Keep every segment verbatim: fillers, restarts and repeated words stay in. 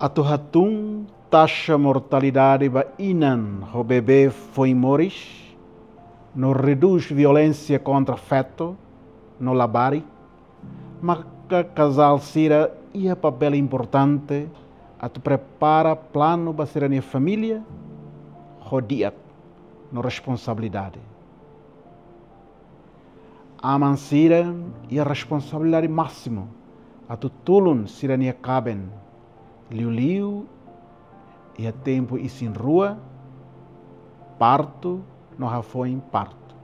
Atu hatún taxa mortalidade ba inan ho bebé foin moris, no redús violénsia kontra feto no labarik, maka kazál sira iha papél importante atu prepara planu ba sira-nia família ho di'ak no responsabilidade. Aman sira iha responsabilidade másimu atu tulun sira-nia kaben, liuliu iha tempu isin-rua, partu no hafoin partu.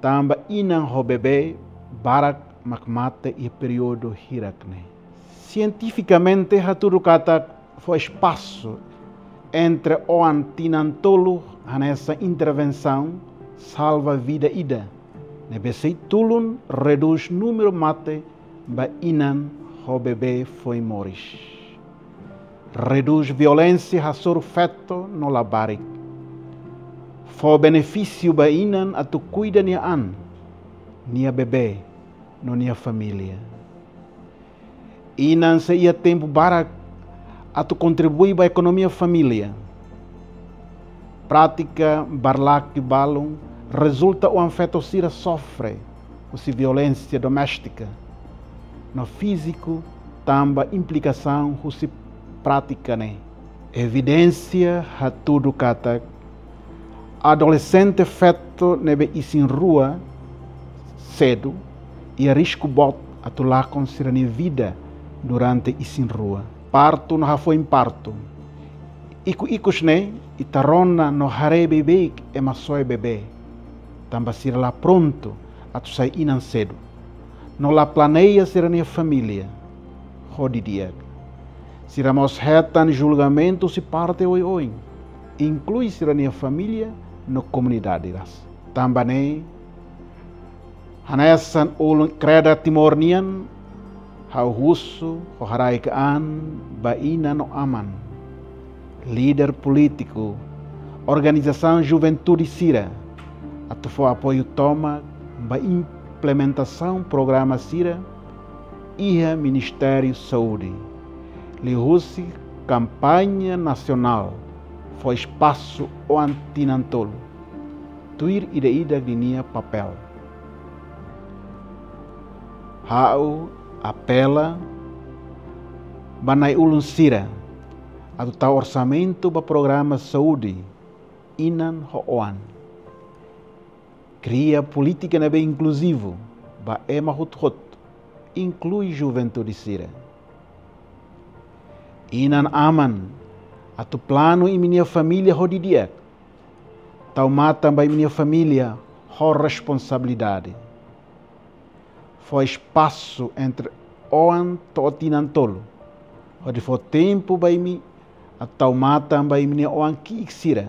Tanba inan ho bebé barak mak mate iha períodu hirak-ne'e. Sientifikamente hatudu katak fó espasu entre oan tinan tolu hanesan intervensaun salva vida ida ne'ebé sei tulun redús númeru mate ba inan ho bebé foin moris. Redús violénsia hasoru feto no labarik. Fó benefísiu ba inan atu kuida nia an, nia bebé no nia família. Inan sei iha tempu barak atu kontribui ba ekonomia família. Prátika barlake balun rezulta oan feto sira sofre husi violénsia doméstika no fíziku tanba implikasaun husi prátika ne'e. Evidénsia hatudu katak adolexente feto ne'ebé isin-rua sedu iha risku boot atu lakon sira-nia vida durante isin-rua, partu no hafoin partu. Ikus-ikus ne'e ita rona no haree beibeik ema soe bebé, tanba sira la prontu atu sai inan sedu, no la planeia sira-nia família ho di'ak. Sira mós hetan julgamentu husi parte oioin, inklui sira-nia família no komunidade rasik. Tanba ne'e, hanesan ulun Kreda Timor nian, ha'u husu ho haraik-an ba inan no aman, líder polítiku, organizasaun juventude sira, atu fó apoiu tomak ba implementasaun programa sira iha Ministériu Saúde, liuhusi kampaña nasionál fó espasu oan tinan tolu, tuir ida-idak ninia papél. Ha'u apela ba na'i-ulun sira atu tau orsamentu ba programa saúde inan ho oan. Kria polítika ne'ebé inkluzivu ba ema hotu-hotu, inklui juventude sira. Inan-aman atu planu imi-nia família ho di'ak. Tau matan ba imi-nia família ho responsabilidade. Fó espasu entre oan to'o tinan tolu, hodi fó tempu ba imi atu tau matan ba imi-nia oan ki'ik sira.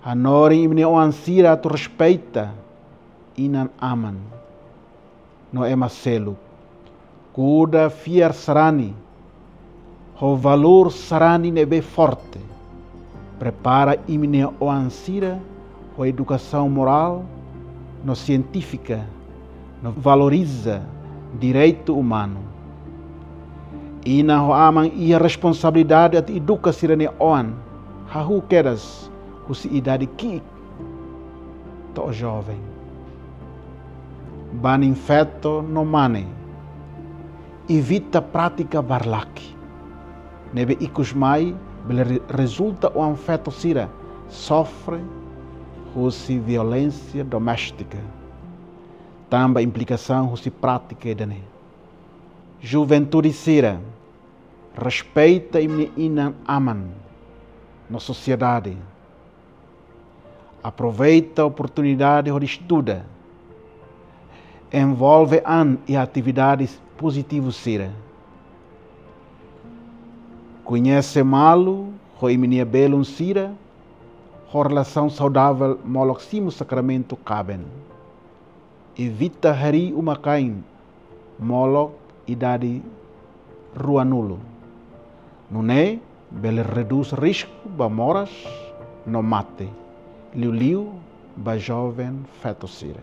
Hanorin imi-nia oan sira atu respeita inan-aman no ema seluk. Kuda fiar sarani ho valór sarani ne'ebé forte. Prepara imi-nia oan sira ho edukasaun morál no sientífika, no valoriza direitu umanu. Inan ho aman iha responsabilidade atu eduka sira-nia oan, hahú kedas husi idade ki'ik to'o joven. Banin feto no mane, evita prátika barlake ne'ebé ikus mai bele re-, rezulta oan feto sira sofre husi violénsia doméstika, tanba implikasaun husi prátika ida-ne'e. Juventude sira, respeita imi-nia inan-aman no sosiedade. Aproveita oportunidade hodi estuda. Envolve an iha atividades pozitivu sira. Koñese malu ho imi-nia belun sira ho relasaun saudavel molok simu sakramentu kaben. Evita harii uma-kain molok idade ruanulu. Nune'e bele redús risku ba moras no mate, liuliu ba joven feto sira.